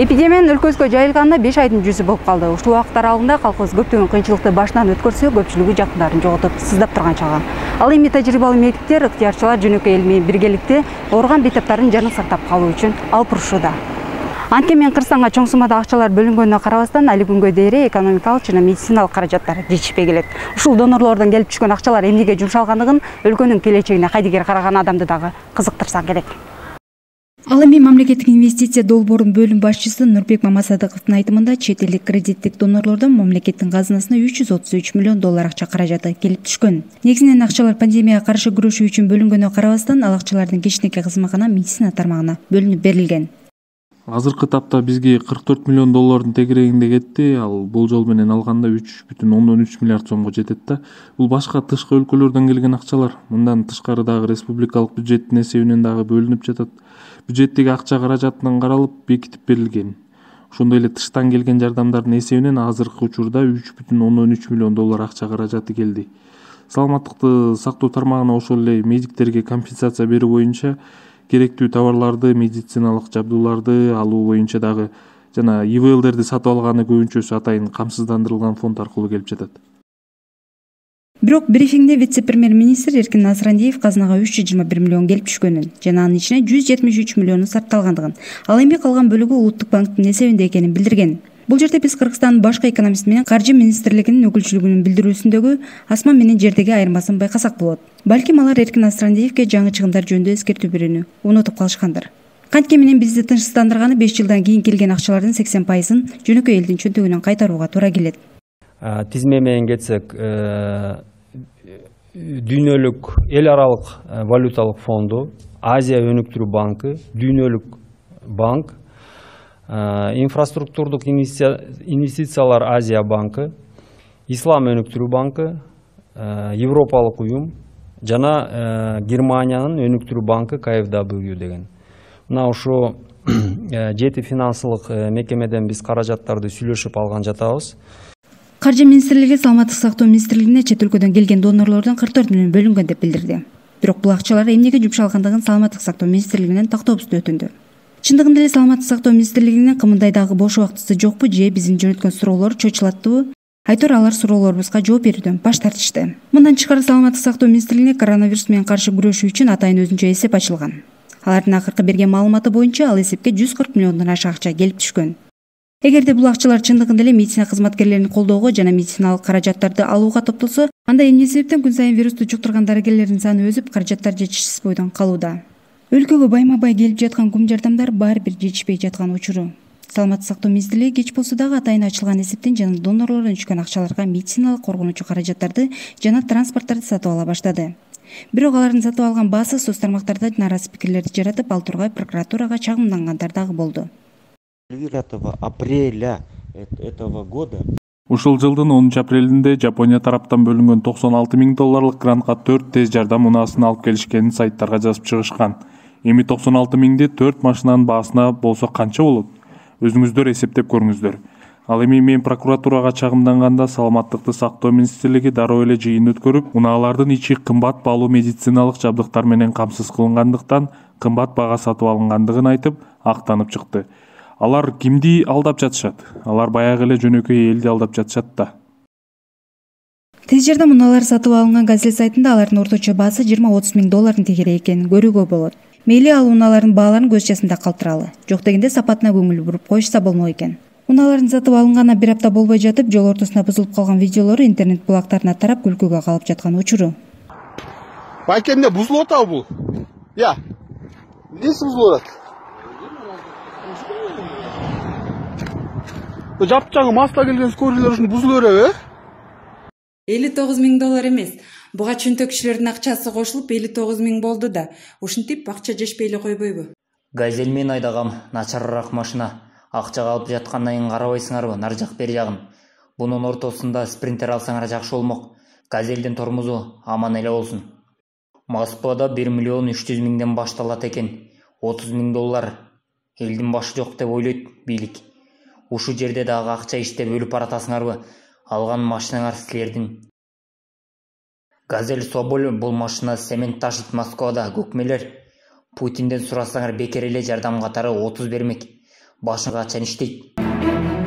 Эпидемиянын өлкөбүзгө жайылганына 5 айдын жүзү болуп калды. Ушул убакыт аралыгында калкыбыз көптөгөн кыйынчылыкты башынан өткөрсө, көпчүлүгү жакындарын жоготуп, сыздап турган чагы. Ал эми тажрыйбалуу медиктер, ыктыярчылар жөнөкөй эл менен биргеликте ооруган бейтаптарын жанын сактап калуу үчүн алып урушууда. Анткени Кыргызстанга чоң суммада акчалар бөлүнгөнүнө карабастан, али күнгө дейре экономикалык жана медициналык каражаттар жетишпей келет. Ушул донорлордон келип түшкөн акчалар эмнеге жумшалгандыгын, өлкөнүн келечегине кайдыгер караган адамды дагы кызыктырса керек. Ал эми мамлекеттик инвестиция долбоорунун бөлүм башчысы Нурбек Мамасадыковдун айтымында, чет элдик кредиттик донорлордон мамлекеттин казынасына 333 миллион доллар акча каражаты келип түшкөн. Негизинен акчалар пандемияга каршы күрөшүү үчүн бөлүнгөнүнө карабастан, ал акчалардын кичинекей кызматкана медицина тармагына бөлүнүп берилген. Азыркы тапта бизге 44 миллион доллардын тегерегинде кетти. Ал болжол менен алганда 3,3 миллиард сомго жетет да. Бул башка тышкы өлкөлөрдөн келген акчалар. Мындан тышкары дагы республикалык бюджеттин эсебинен дагы бөлүнүп жатат. Бюджеттеги акча каражатынан каралып, бекитип берилген. Ошондой эле тыштан келген жардамдардын эсебинен азыркы учурда 3,3 миллион доллар акча каражаты келди. Саламаттыкты сактоо тармагына ошол эле медиктерге компенсация берүү боюнча керектүү товарларды, медициналык жабдууларды алуу боюнча дагы жана ИВЛдерди сатып алганы көбүнчөсү атайын камсыздандырылган фонд аркылуу келип жатат. Бирок брифингде вице-премьер-министр Эркин Насрандиев казынага 321 миллион келип түшкөнүн жана анын ичине 173 миллиону сарпталгандыгын, ал эми калган бөлүгү Улуттук банктын эсебинде экенин билдирген. Бул жерде биз Кыргызстандын башкы экономист менен Каржы министрлигинин өкүлчүлүгүнүн билдирүүсүндөгү асман менен жердеги айырмасын байкасак болот. Балким алар Эркин Насрандиевке жаңы чыгымдар жөнүндө эскертүү берүүнү унутуп калышкандыр. Кантке менен бизди тынчсыздандырганы 5 жылдан кийин келген акчалардын 80%-ын жөнөкөй элдин чөнтөгүнөн кайтарууга туура келет. Тизме менен кетсек, дүйнөлүк эл аралык валюталык фонду, Азия өнүктүрүү банкы, дүйнөлүк банк, инфраструктурдук инвестициялар Азия банкы, Ислам өнүктүрүү банкы, Европалык уюм жана Германиянын өнүктүрүү банкы KfW деген. Мына ушу 7 финансылык мекемеден биз каражаттарды сүйлөшүп алган жатабыз. Каржы министрлиги Саламаттык сактоо министрлигине чет өлкөдөн келген донорлордон 44 миллион бөлүнгөн деп билдирди. Бирок бул акчалар эмнеге жумшалгандыгын Саламаттык сактоо министрлигинен тактообузду өтүндү. Чындыгында эле Саламаттык сактоо министрлигинин кымындай дагы бош убактысы жокпу же биздин жөнөткөн суроолор чочулаттыбы? Айтор алар суроолорубузга жооп берүүдөн баш тартышты. Мындан тышкары Саламаттык сактоо министрлигине коронавирус менен каршы күрөшүү үчүн атайын өзүнчө эсеп ачылган. Алардын акыркы берген маалыматы боюнча ал эсепке 140 миллиондон ашык акча келип түшкөн. Эгерде бул акчалар чындыгында эле медицина кызматкерлерин колдоого жана медициналык каражаттарды алууга топтолсо, анда эмне себептен күн сайын вирусту жуктурган дарыгерлердин саны өсүп, каражаттар жетишсиз бойдон калууда? Өлкөгө байма-бай келип жаткан кум жардамдар баары бир жетишпей жаткан учуру. Саламаттык сактоо министрлиги кеч болсо дагы атайын ачылган эсептен жана донорлордон түшкөн акчаларга медициналык коргонуучу каражаттарды жана транспорттарды сатып ала баштады. Бирок алардын сатып алган баасы соц тармактарда нааразы пикирлерди жаратып, ал тургай прокуратурага чагымдангандар дагы болду. 9 апреля этого года Ушул жылдын 10 апрелинде Жапония тараптан бөлүнгөн 96 миң долларлык грантка 4 тез жардам унаасын алып келишкенин сайттарга жазып чыгышкан. Эми 96 миңди 4 машинанын баасына болсо канча болот? Өзүңүздөр эсептеп көрүңүздөр. Ал эми мен прокуратурага чагымданганда Саламаттыкты сактоо министрлиги дароо эле жыйын өткөрүп, унаалардын ичи кымбат баалуу медициналык жабдыктар менен камсыз кылынгандыктан кымбат баага сатып алынгандыгын айтып, актанып чыкты. Алар кимди алдап жатышат? Алар баягы эле жөнөкөй элди алдап жатышат да. Тез жардам унаалары сатып алынган газет сайтында алардын орточо баасы 20-30 миң доллардын тегереги экенин көрүүгө болот. Мейли ал унаалардын бааларын көз жасында калтыралы. Жок дегенде сапатына көңүл буруп коюшса болмок экен. Унаалардын сатып алынганына бир апта болбой жатып, жол ортосунда бузулуп калган видеолору интернет булактарына тарап күлкүгө калып жаткан учуру. Байкемде бузулуп атабы бул? Я. Эмнеси бузулуп атат? Жапчагы маста келген скорыйлар ушуну бузулуп береби? 59 миң доллар эмес. Буга чөнтөк кишилердин акчасы кошулуп 59 миң болду да. Ушинтип акча жешпей эле койбойбу? Газель мен айдагам, начарыраак машина. Акчага алып жаткандан кийин карабайсыңарбы, нар жак бери жагын. Бунун ортосунда спринтер алсаңар жакшы болмок. Газелдин тормозу аман эле болсун. Москвада 1 миллион 300 миңден башталат экен. 30 миң доллар. Элдин башы жок деп ойлойт бийлик. Ушу жерде дагы акча иштеп өлүп баратасыңарбы? Алган машинаңар силердин. Газель Соболь бул машина цемент ташыт Москвада, көкмелер. Путинден сурасаңар бекер эле жардам катары 30 бермек. башыңга чен иштейт.